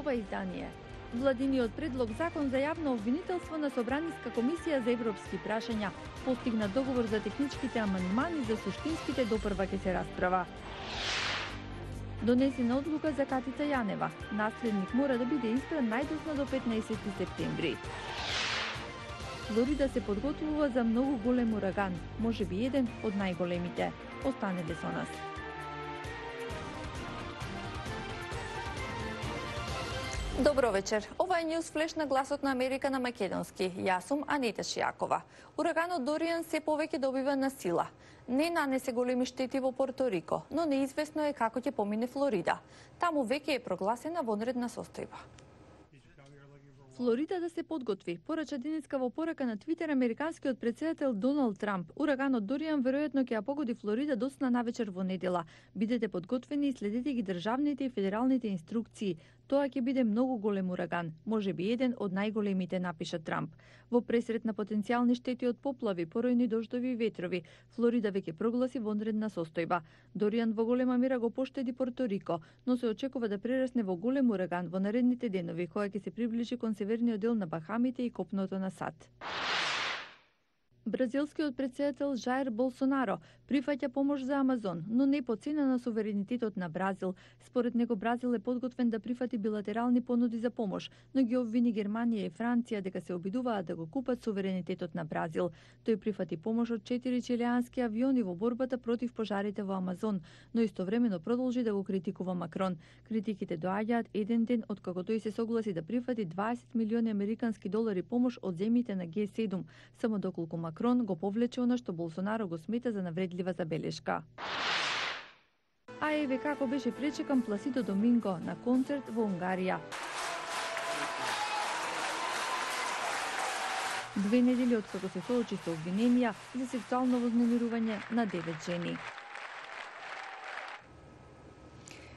ова издание. Владиниот предлог закон за јавно обвинителство на Собраниска комисија за европски прашања постигна договор за техничките амандмани, за суштинските допрва ќе се расправа. Донесена одлука за Катица Јанева. Наследник мора да биде избран најдосно до 15 септември. Флорида се подготвува за многу голем ураган, можеби еден од најголемите. Останете со нас. Добро вечер. Ова е News Flash на Гласот на Америка на македонски. Јас сум Анита Шијакова. Ураганот Дориан се повеќе добива на сила. Не нанесе големи штети во Порто Рико, но неизвестно е како ќе помине Флорида. Таму веќе е прогласена вонредна состојба. Флорида да се подготви, порача денеска во порака на Твитер американскиот претседател Доналд Трамп. Ураганот Дориан веројатно ќе ја погоди Флорида доцна навечер во недела. Бидете подготвени и следете ги државните и федералните инструкции. Тоа ќе биде многу голем ураган, можеби еден од најголемите, напиша Трамп. Во пресрет на потенцијални штети од поплави, поројни дождови и ветрови, Флорида веќе прогласи вонредна состојба. Дориан во голема мера го поштеди Порто Рико, но се очекува да прерасне во голем ураган во наредните денови, кога ќе се приближи кон северниот дел на Бахамите и копното на САД. Бразилскиот претседател Жаир Болсонаро прифаќа помош за Амазон, но не по цена на суверенитетот на Бразил. Според него Бразил е подготвен да прифати билатерални понуди за помош, но ги обвини Германија и Франција дека се обидуваат да го купат суверенитетот на Бразил. Тој прифати помош од 4 чилеански авиони во борбата против пожарите во Амазон, но истовремено продолжи да го критикува Макрон. Критиките доаѓаат еден ден од кога тој се согласи да прифати 20 милиони американски долари помош од земјите на Г7, само доколку Макрон го повлече она што Болсонаро го смета за навредлива забелешка. А еве како беше пречекан Пласидо Доминго на концерт во Унгарија. 2 недели од како се соочи со обвиненија за сексуално вознемирување на 9 жени.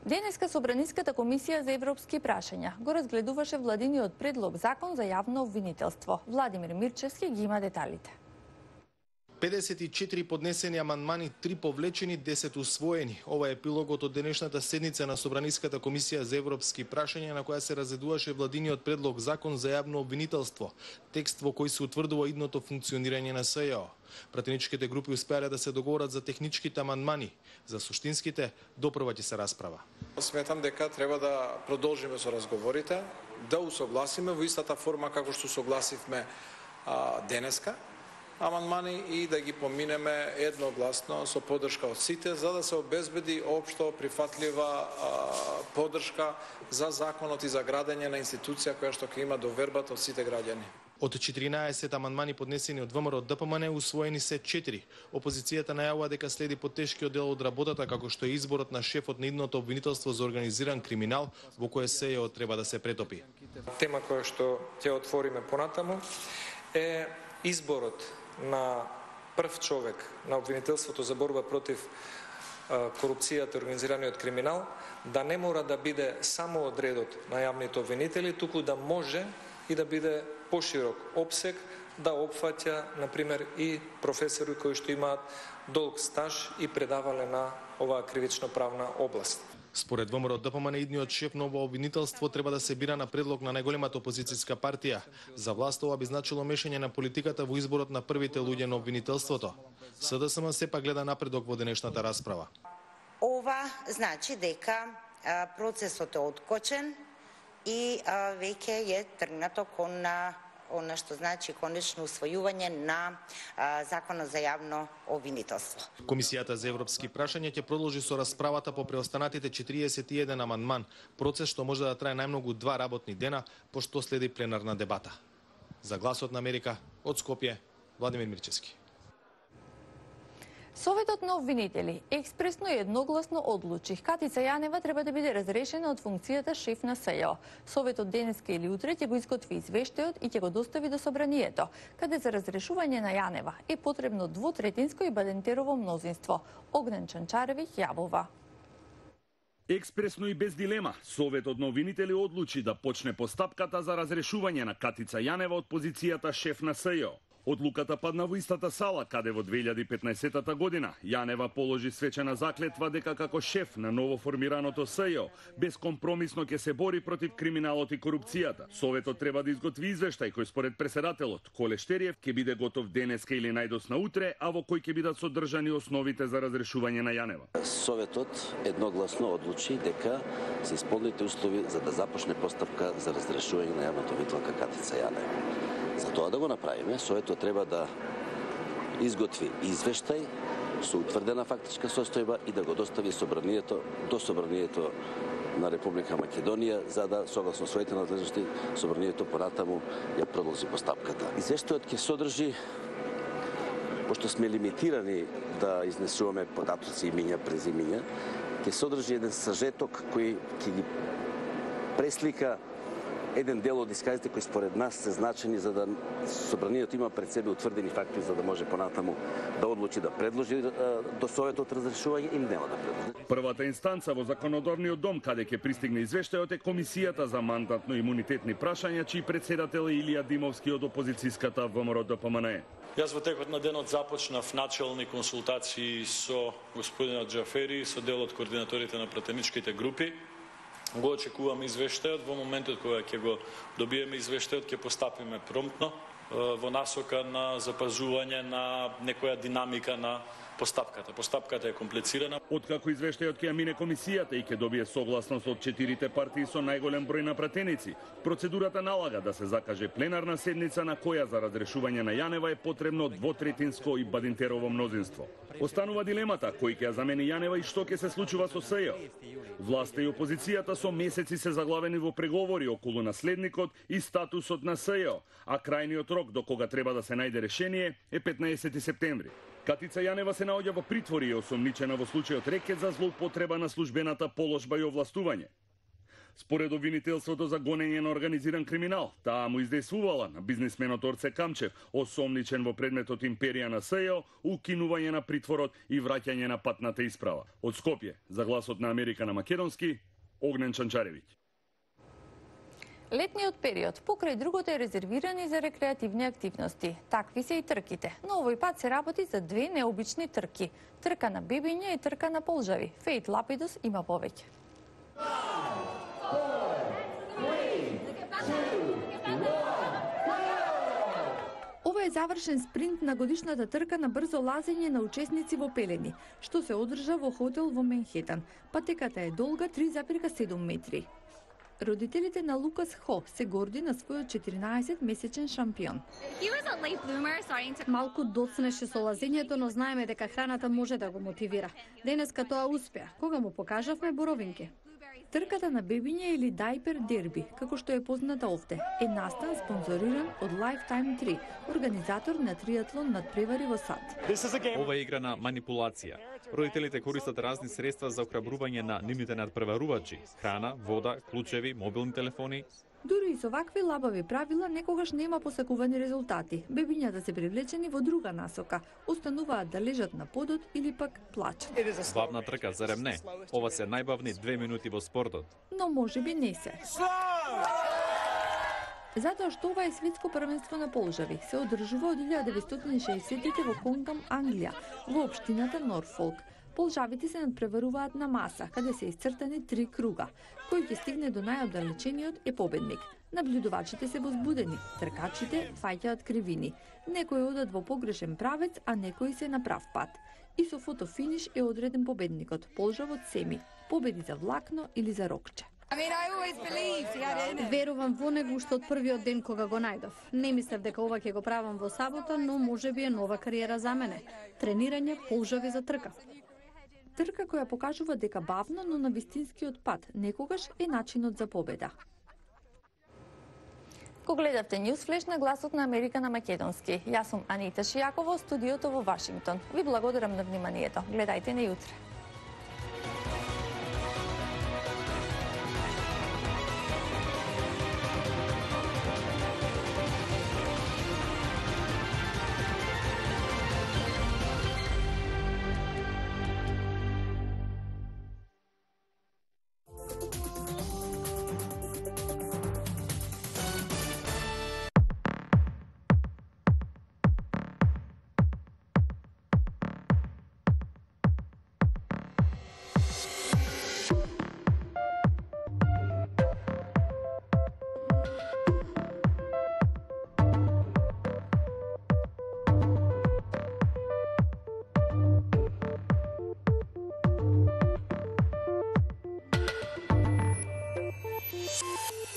Денеска Собраниската комисија за европски прашања го разгледуваше владиниот предлог закон за јавно обвинителство. Владимир Мирчевски ги има деталите. 54 поднесени амандмани, 3 повлечени, 10 усвоени. Ова е епилогот од денешната седница на Собраниската комисија за европски прашања, на која се разгледуваше владиниот предлог закон за јавно обвинителство, текст во кој се утврдува идното функционирање на СЈО. Пратеничките групи успеале да се договорат за техничките амандмани, за суштинските допрва ќе се расправа. Сметам дека треба да продолжиме со разговорите, да усогласиме во истата форма како што согласивме денеска амандмани и да ги поминеме едногласно со поддршка од сите, за да се обезбеди општо прифатлива поддршка за законот и за градење на институција која што ќе има довербата од сите граѓани. Од 14 амандмани поднесени од ВМРО ДПМН, усвоени се 4. Опозицијата најавува дека следи потешкиот дел од работата, како што е изборот на шефот на идното обвинителство за организиран криминал, во кое СЈО треба да се претопи. Тема која што ќе отвориме понатаму е изборот на прв човек на обвинителството за борба против корупцијата и организираниот криминал, да не мора да биде само од редот на јавните обвинители, туку да може и да биде поширок опсег, да опфаќа, например, и професори кои што имаат долг стаж и предавале на оваа кривично-правна област. Според ВМРО ДПМН, идниот шеф на ова обвинителство треба да се бира на предлог на најголемата опозицијска партија. За власт ова би значило мешање на политиката во изборот на првите луѓе на обвинителството. СДСМ сепак гледа напредок во денешната расправа. Ова значи дека процесот е откочен и веќе е тргнато кон она што значи конечно усвојување на законот за јавно обвинителство. Комисијата за европски прашања ќе продолжи со расправата по преостанатите 41 амандман, процес што може да трае најмногу 2 работни дена, пошто следи пленарна дебата. За Гласот на Америка, од Скопје, Владимир Мирчевски. Советот на обвинители експресно и едногласно одлучи Катица Јанева треба да биде разрешена од функцијата шеф на СЈО. Советот денеска или утре ќе го изготви извештајот и ќе го достави до собранието, каде за разрешување на Јанева е потребно двотретинско и бадентерово мнозинство. Огнен Чанчаревиќ јавува. Експресно и без дилема, Советот на обвинители одлучи да почне постапката за разрешување на Катица Јанева од позицијата шеф на СЈО. Одлуката падна во истата сала, каде во 2015 година Јанева положи свечена заклетва дека како шеф на ново формираното СЈО безкомпромисно ќе се бори против криминалот и корупцијата. Советот треба да изготви извештај кој според председателот Коле Штериев ќе биде готов денеска или најдосна утре, а во кој ќе бидат содржани основите за разрешување на Јанева. Советот едногласно одлучи дека се исполните услови за да започне постапка за разрешување на јавната обвинителка Катица Јанева. За тоа да го направиме, Советот треба да изготви извештај со утврдена фактичка состојба и да го достави до Собранието на Република Македонија, за да, согласно своите надлежности, Собранието понатаму ја продолжи постапката. Извештајот ќе содржи, пошто сме лимитирани да изнесуваме податоци, имиња, презимиња, ќе содржи еден сажеток кој ќе ги преслика еден дел од исказите кои според нас се значени за да Собранието има пред себе утврдени факти за да може понатаму да одлучи да предложи до Советот разрешување или нема да предложи. Првата инстанца во законодавниот дом каде ќе пристигне извештајот е Комисијата за мандатно-имунитетни прашања, чиј председател е Илија Димовски од опозицијската ВМРО-ДПМНЕ. Јас во текот на денот започнав начални консултации со господинот Џафери, со дел од координаторите на пратеничките групи. Го очекувам извештајот, во моментот кога ќе го добиеме извештајот ќе постапиме промптно во насока на запазување на некоја динамика на постапката. Постапката е комплицирана. Откако извештајот ќе ја мине комисијата и ќе добие согласност од 4 партии со најголем број на пратеници, процедурата налага да се закаже пленарна седница на која за разрешување на Јанева е потребно двотретинско и бадинтерово мнозинство. Останува дилемата кој ќе ја замени Јанева и што ќе се случува со СЈО. Власта и опозицијата со месеци се заглавени во преговори околу наследникот и статусот на СЈО, а крајниот рок до кога треба да се најде решение е 15 септември. Катица Јанева се наоѓа во притвор и е осомничена во случајот рекет за злоупотреба на службената положба и овластување. Според обвинителството за гонење на организиран криминал, таа му издействувала на бизнисменот Орце Камчев, осомничен во предметот империја на СЈО, укинување на притворот и враќање на патната исправа. Од Скопје, за Гласот на Америка на македонски, Огнен Чанчаревиќ. Летниот период покрај другото е резервиран и за рекреативни активности. Такви се и трките, но овој пат се работи за две необични трки. Трка на бебиња и трка на полжави. Фејт Лапидус има повеќе. Ова е завршен спринт на годишната трка на брзо лазење на учесници во пелени, што се одржа во хотел во Менхетан. Патеката е долга 3,7 метри. Родителите на Лукас Хо се горди на својот 14-месечен шампион. Малку доцнеше со лазењето, но знаеме дека храната може да го мотивира. Денеска тоа успеа, кога му покажавме боровинки. Трката на бебиња или Дайпер Дерби, како што е позната овде, е настан спонзориран од Lifetime 3, организатор на триатлон надпревари во САД. Ова е игра на манипулација. Родителите користат разни средства за охрабрување на нивните надпреварувачи: храна, вода, клучеви, мобилни телефони. Дури и со вакви лабави правила некогаш нема посакувани резултати. Бебињата се привлечени во друга насока, остануваат да лежат на подот или пак плачат. Бавна трка, зарем не? Ова се најбавни 2 минути во спортот. Но можеби не се. Затоа што ова е светско првенство на полжави, се одржува од 1960-тите во Конгам, Англија, во општината Норфолк. Полжавите се надпреваруваат на маса, каде се исцртани 3 круга. Кој ќе стигне до најоддалечениот е победник. Наблюдувачите се возбудени, тркачите фаќаат кривини. Некои одат во погрешен правец, а некои се на прав пат. И со фотофиниш е одреден победникот, полжавот Семи. Победи за влакно или за рокче. Верувам во него уште од првиот ден кога го најдов. Не мислев дека ова ќе го правам во сабота, но можеби е нова кариера за мене. Тренирање, полжави за трка. Трка која покажува дека бавно, но на вистинскиот пат, некогаш е начинот за победа. Ко гледавте Newsflash на Гласот на Америка на македонски. Јас сум Анита Шијакова, студиото во Вашингтон. Ви благодарам на вниманието. Гледајте на јутре.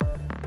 Италија.